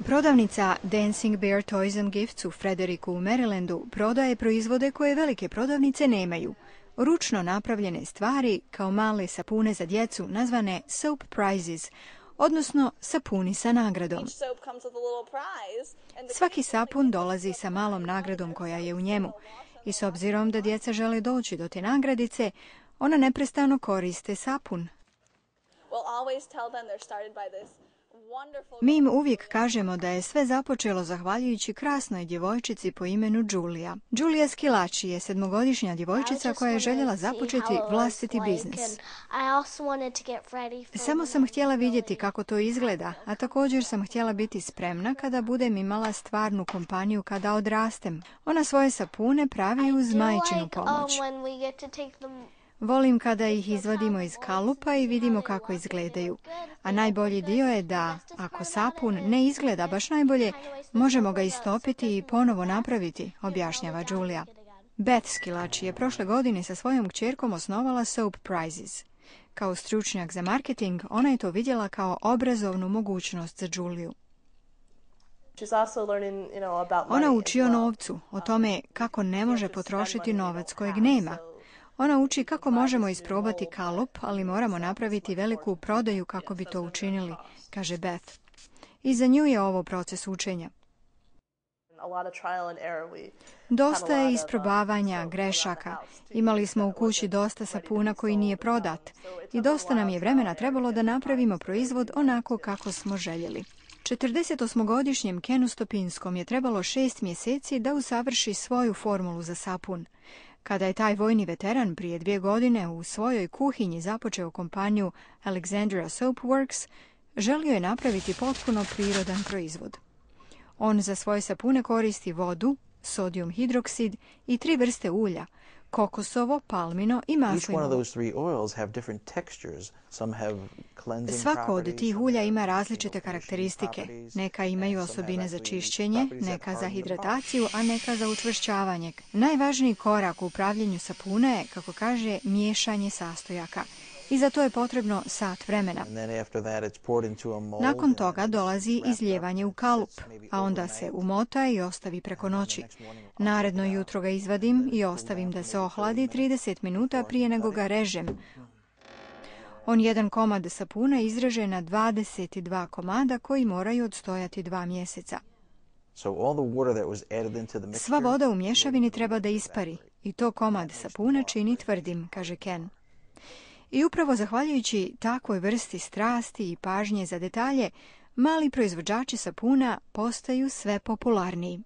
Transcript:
Prodavnica Dancing Bear Toys and Gifts u Fredericu u Marylandu prodaje proizvode koje velike prodavnice nemaju. Ručno napravljene stvari kao male sapune za djecu nazvane soap prizes, odnosno sapuni sa nagradom. Svaki sapun dolazi sa malom nagradom koja je u njemu i s obzirom da djeca žele doći do te nagradice, ona neprestano koriste sapun. Mi im uvijek kažemo da je sve započelo zahvaljujući krasnoj djevojčici po imenu Julia. Julia Schillaci je 7-godišnja djevojčica koja je željela započeti vlastiti biznis. Samo sam htjela vidjeti kako to izgleda, a također sam htjela biti spremna kada budem imala stvarnu kompaniju kada odrastem. Ona svoje sapune pravi uz majčinu pomoć. Volim kada ih izvadimo iz kalupa i vidimo kako izgledaju. A najbolji dio je da, ako sapun ne izgleda baš najbolje, možemo ga istopiti i ponovo napraviti, objašnjava Julia. Beth Schillaci je prošle godine sa svojom kćerkom osnovala Soap Prizes. Kao stručnjak za marketing, ona je to vidjela kao obrazovnu mogućnost za Juliu. Ona uči o novcu, o tome kako ne može potrošiti novac kojeg nema. Ona uči kako možemo isprobati kalup, ali moramo napraviti veliku prodaju kako bi to učinili, kaže Beth. I za nju je ovo proces učenja. Dosta je isprobavanja, grešaka. Imali smo u kući dosta sapuna koji nije prodat i dosta nam je vremena trebalo da napravimo proizvod onako kako smo željeli. 48-godišnjem Kenu Stopinskom je trebalo 6 mjeseci da usavrši svoju formulu za sapun. Kada je taj vojni veteran prije 2 godine u svojoj kuhinji započeo kompaniju Alexandria Soap Works, želio je napraviti potpuno prirodan proizvod. On za svoje sapune koristi vodu, sodijum hidroksid i 3 vrste ulja, kokosovo, palmino i maslinovo. Svako od tih ulja ima različite karakteristike. Neka imaju osobine za čišćenje, neka za hidrataciju, a neka za učvršćavanje. Najvažniji korak u upravljanju sapuna je, kako kaže, miješanje sastojaka. I za to je potrebno sat vremena. Nakon toga dolazi izlijevanje u kalup, a onda se umota i ostavi preko noći. Naredno jutro ga izvadim i ostavim da se ohladi 30 minuta prije nego ga režem. On jedan komad sapuna izreže na 22 komada koji moraju odstojati 2 mjeseca. Sva voda u mješavini treba da ispari i to komad sapuna čini tvrdim, kaže Ken. I upravo zahvaljujući takvoj vrsti strasti i pažnje za detalje, mali proizvođači sapuna postaju sve popularniji.